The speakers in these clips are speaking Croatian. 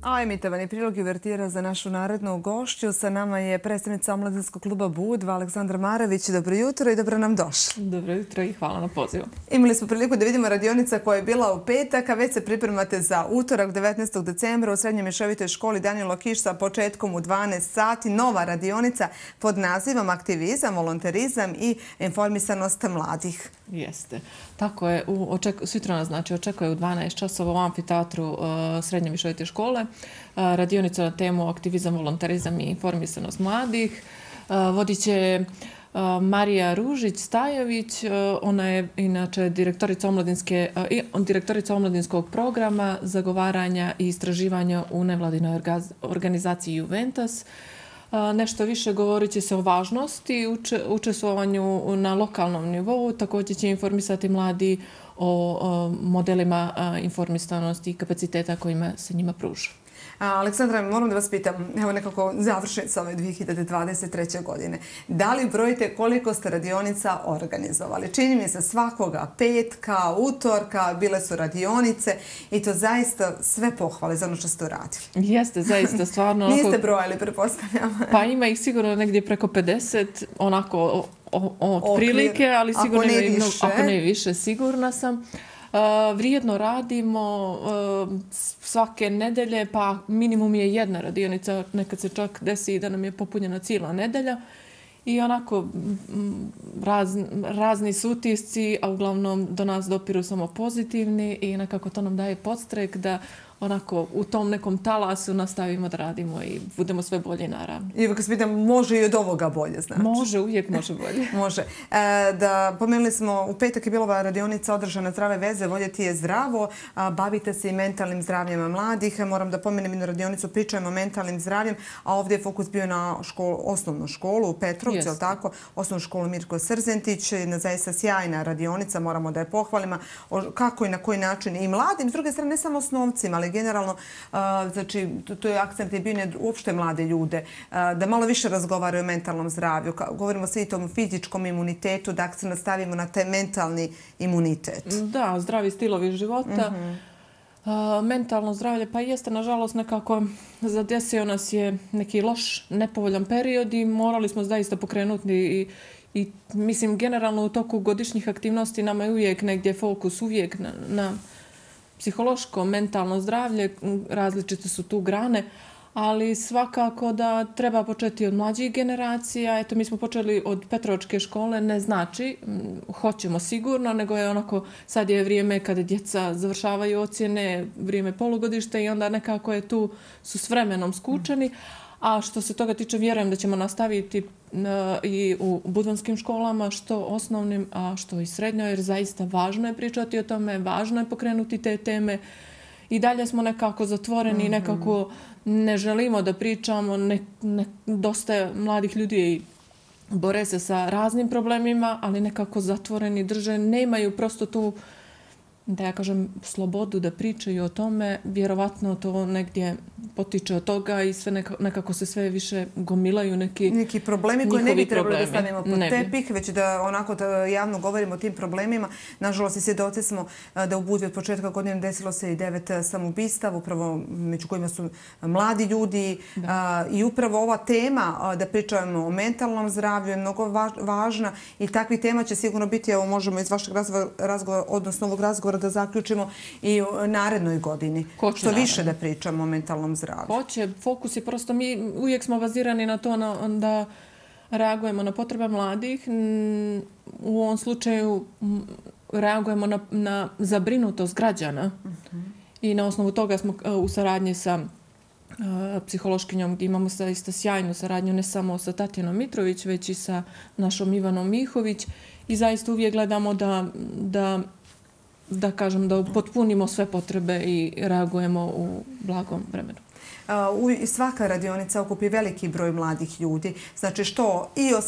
A emitovani prilog uvertira za našu narednu gošću. Sa nama je predstavnica Omladinskog kluba Budva, Aleksandra Marević. Dobro jutro i dobro nam došli. Dobro jutro i hvala na pozivu. Imali smo priliku da vidimo radionica koja je bila u petak, a već se pripremate za utorak 19. decembra u Srednjoj mješovitoj školi Danilo Kiš sa početkom u 12 sati. Nova radionica pod nazivom Aktivizam, volonterizam i informisanost mladih. Jeste. Tako je. Sutra nas očekuje u 12 časova u amfiteatru Srednje mješovite škole. Radionica na temu Aktivizam, volonterizam i informisanost mladih. Vodit će Marija Ružić-Stajović. Ona je inače direktorica omladinskog programa zagovaranja i istraživanja u nevladinoj organizaciji Juventus. Nešto više govorit će se o važnosti učestvovanju na lokalnom nivou. Također će informisati mladi o modelima informisanosti i kapaciteta kojima se njima pruža. Aleksandra, moram da vas pitam, evo nekako završnica ove 2023. godine. Da li brojite koliko ste radionica organizovali? Čini mi se svakoga petka, utorka, bile su radionice i to zaista sve pohvale za ono što ste uradili. Jeste, zaista, stvarno. Niste brojali, pretpostavljam. Pa ima ih sigurno negdje preko 50, onako otprilike, ali sigurno ako ne više, sigurna sam. Vrijedno radimo svake nedelje, pa minimum je jedna radionica, nekad se čak desi da nam je popunjena cijela nedelja. I onako razni su utisci, a uglavnom do nas dopiru samo pozitivni i nekako to nam daje podstrek da onako u tom nekom talasu nastavimo da radimo i budemo sve bolje naravno. I uvijek se pitam, može i od ovoga bolje, znači? Može, uvijek može bolje. Može. Pomenuli smo, u petak je bila ova radionica održana Zdrave veze, voljeti je zdravo, bavite se i mentalnim zdravljem mladih. Moram da pomenem jednu radionicu, pričajmo o mentalnim zdravljem, a ovdje je fokus bio na osnovnu školu u Petrovcu, je tako? Osnovnu školu Mirko Srzentić, jedna zaista sjajna radionica, moramo da je pohvalimo. Kako i na koji način i mladim, s druge strane ne samo osnovcima, ali generalno, znači, to je akcent je bio uopšte mlade ljude, da malo više razgovaraju o mentalnom zdravlju. Govorimo svi o tom fizičkom imunitetu, da akcent nastavimo na taj mentalni imunitet. Da, zdravi stilovi života. Mentalno zdravlje, pa jeste, nažalost, nekako zadesio nas je neki loš, nepovoljan period i morali smo zaista pokrenuti i mislim, generalno u toku godišnjih aktivnosti nama je uvijek negdje fokus, uvijek na psihološko, mentalno zdravlje, različite su tu grane, ali svakako da treba početi od mlađih generacija. Eto, mi smo počeli od Petrovačke škole, ne znači, hoćemo sigurno, nego je onako, sad je vrijeme kada djeca završavaju ocjene, vrijeme polugodište i onda nekako je tu, su s vremenom skučeni. A što se toga tiče, vjerujem da ćemo nastaviti i u budvanskim školama, što osnovnim, a što i srednjoj, jer zaista važno je pričati o tome, važno je pokrenuti te teme. I dalje smo nekako zatvoreni, nekako ne želimo da pričamo, dosta mladih ljudi bore se sa raznim problemima, ali nekako zatvoreni drže, nemaju prosto tu, da ja kažem, slobodu da pričaju o tome. Vjerovatno to negdje potiče od toga i sve nekako se sve više gomilaju neki problemi koji ne bi trebali da stavimo pod tepih, već da onako da javno govorimo o tim problemima. Nažalost, i svjedoci smo da u Budvi od početka godine desilo se i 9 samoubistava, upravo među kojima su mladi ljudi. I upravo ova tema da pričamo o mentalnom zdravlju je mnogo važna i takvih tema će sigurno biti, evo možemo iz vašeg razgovora, odnosno ovog razgovora da zaključimo i u narednoj godini. Što više da pričamo o mentalnom zdravlju. Hoće. Fokus je prosto, mi uvijek smo bazirani na to da reagujemo na potrebe mladih. U ovom slučaju reagujemo na zabrinutost građana. I na osnovu toga smo u saradnji sa psihološkinjom gdje imamo zaista sjajnu saradnju ne samo sa Tatjanom Mitrović, već i sa našom Ivanom Mihović. I zaista uvijek gledamo da potpunimo sve potrebe i reagujemo u blagom vremenu. Svaka radionica okupi veliki broj mladih ljudi. Znači što i o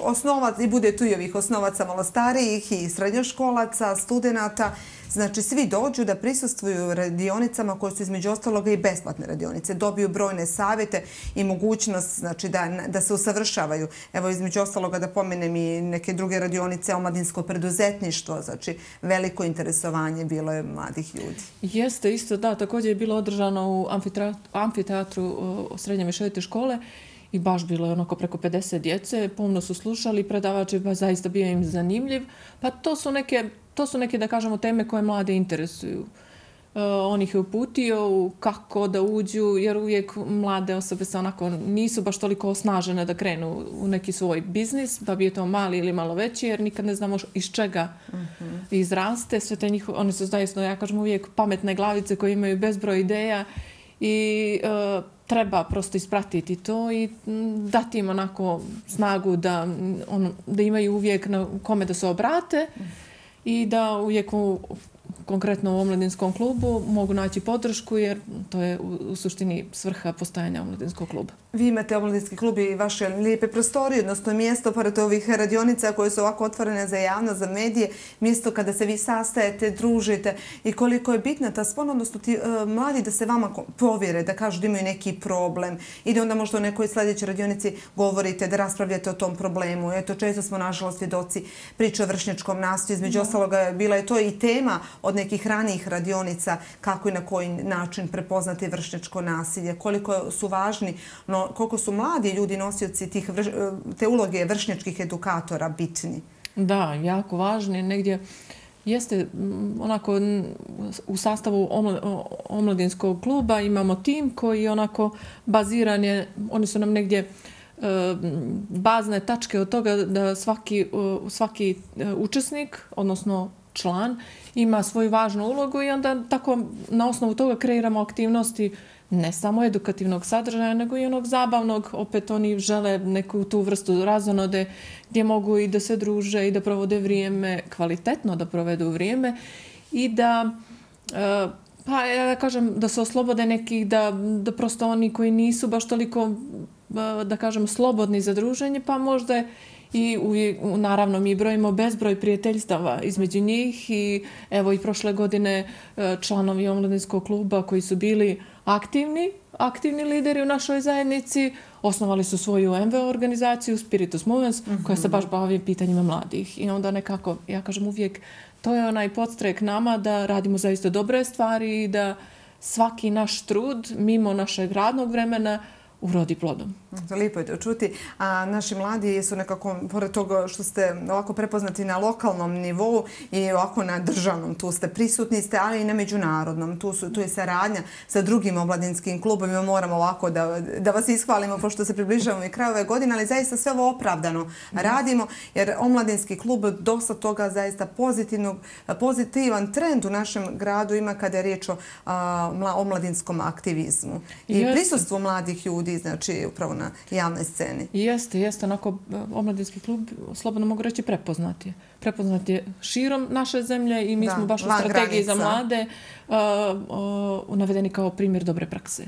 osnovaca, i bude tu i ovih osnovaca malo starijih i srednjoškolaca, studenata. Znači svi dođu da prisustvuju radionicama koje su između ostaloga i besplatne radionice. Dobiju brojne savjete i mogućnost znači, da se usavršavaju. Evo između ostaloga da pomenem i neke druge radionice, omladinsko preduzetništvo. Znači veliko interesovanje bilo je mladih ljudi. Jeste isto, da. Također je bilo održano u amfiteatru srednje mješovite škole i baš bilo je onako preko 50 djece, pomno su slušali, predavač je zaista bio im zanimljiv. Pa to su neke, da kažemo, teme koje mlade interesuju. On ih je uputio kako da uđu, jer uvijek mlade osobe se onako nisu baš toliko osnažene da krenu u neki svoj biznis, pa bi je to mali ili malo veći, jer nikad ne znamo iz čega izraste. Sve te njihove, oni su zaista, ja kažem uvijek, pametne glavice koje imaju bezbroj ideja i treba prosto ispratiti to i dati im onako snagu da imaju uvijek na kome da se obrate i da uvijek konkretno u omladinskom klubu mogu naći podršku, jer to je u suštini svrha postajanja omladinskog kluba. Vi imate omladinski klub i vaše lijepe prostorije, odnosno mjesto pored ovih radionica koje su ovako otvorene za javnost, za medije, mjesto kada se vi sastajete, družite i koliko je bitna ta spona, odnosno ti mladi da se vama povjere, da kažu da imaju neki problem i da onda možda u nekoj sljedećoj radionici govorite, da raspravljate o tom problemu. Eto, često smo nažalost svjedoci priče o vršnjačkom nasilju, između ostaloga bila je to i tema od nekih ranijih radionica kako i na koji način prepoznati vršnjačko nasilje, koliko su važni, koliko su mladi ljudi nosioci te uloge vršnjačkih edukatora bitni. Da, jako važni. Negdje jeste onako u sastavu omladinskog kluba imamo tim koji onako baziran je, oni su nam negdje bazne tačke od toga da svaki učesnik, odnosno član, ima svoju važnu ulogu i onda tako na osnovu toga kreiramo aktivnosti ne samo edukativnog sadržaja, nego i onog zabavnog. Opet oni žele neku tu vrstu razonode gdje mogu i da se druže i da provode vrijeme, kvalitetno da provedu vrijeme i da, pa ja kažem, da se oslobode nekih, da prosto oni koji nisu baš toliko, da kažem, slobodni za druženje, pa možda i naravno mi brojimo bezbroj prijateljstava između njih i evo i prošle godine članovi omladinskog kluba koji su bili aktivni lideri u našoj zajednici osnovali su svoju MVO organizaciju Spiritus Movens koja se baš bavi pitanjima mladih i onda nekako, ja kažem uvijek, to je onaj podstrek nama da radimo zaista dobre stvari i da svaki naš trud mimo našeg radnog vremena urodi plodom. Lijepo je to čuti. A naši mladi su nekako, pored toga što ste ovako prepoznati na lokalnom nivou i ovako na državnom, tu ste prisutni ste, ali i na međunarodnom. Tu je saradnja sa drugim omladinskim klubovima. Moramo ovako da vas ishvalimo pošto se približavamo i kraju ove godine, ali zaista sve ovo opravdano radimo, jer omladinski klub dosta toga zaista pozitivan trend u našem gradu ima kada je riječ o omladinskom aktivizmu i prisustvu mladih ljudi, znači upravo na javnoj sceni. Jeste. Onako, omladinski klub, slobodno mogu reći, prepoznat je širom naše zemlje i mi smo baš u strategiji za mlade navedeni kao primjer dobre prakse.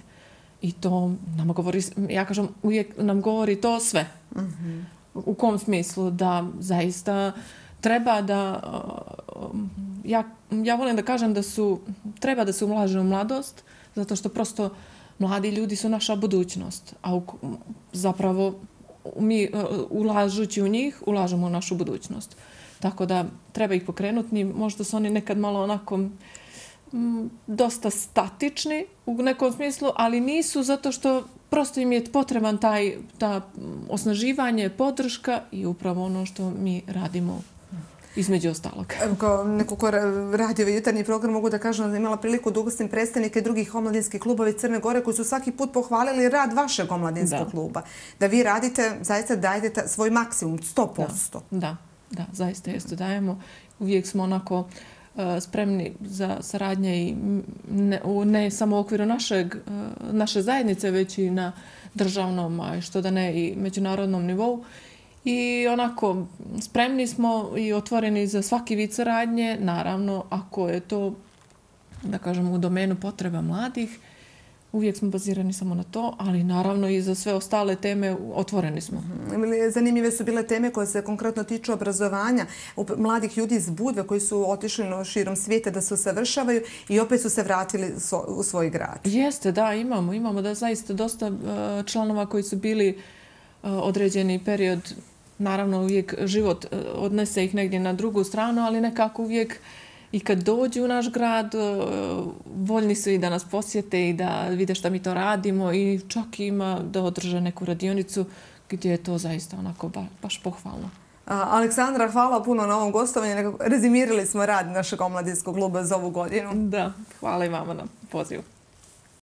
I to nam govori, ja kažem, uvijek nam govori to sve. U kom smislu? Da zaista treba da, ja volim da kažem da treba da se ulaže u mladost, zato što prosto mladi ljudi su naša budućnost, a zapravo mi ulažući u njih, ulažemo u našu budućnost. Tako da treba ih pokrenuti. Možda su oni nekad malo onako dosta statični u nekom smislu, ali nisu zato što prosto im je potreban ta osnaživanje, podrška i upravo ono što mi radimo između ostalog. Kao neko ko radi ovaj jutarnji program mogu da kažem da imala priliku da ugostim predstavnike drugih omladinskih klubova iz Crne Gore koji su svaki put pohvalili rad vašeg omladinskog kluba. Da vi radite, zaista dajete svoj maksimum, 100%. Da, zaista jeste dajemo. Uvijek smo onako spremni za saradnje i ne samo u okviru naše zajednice, već i na državnom, a što da ne i međunarodnom nivou. I onako, spremni smo i otvoreni za svaki vid saradnje, naravno, ako je to, da kažem, u domenu potreba mladih, uvijek smo bazirani samo na to, ali naravno i za sve ostale teme otvoreni smo. Zanimljive su bile teme koje se konkretno tiču obrazovanja mladih ljudi iz Budve koji su otišli širom svijeta da se usavršavaju i opet su se vratili u svoj grad. Jeste, da, imamo da zaista dosta članova koji su bili određeni period. Naravno, uvijek život odnese ih negdje na drugu stranu, ali nekako uvijek i kad dođu u naš grad, voljni su i da nas posjete i da vide šta mi to radimo i čak ima da održe neku radionicu gdje je to zaista onako baš pohvalno. Aleksandra, hvala puno na ovom gostovanju. Rezimirali smo rad našeg omladinskog kluba za ovu godinu. Da, hvala i vama na pozivu.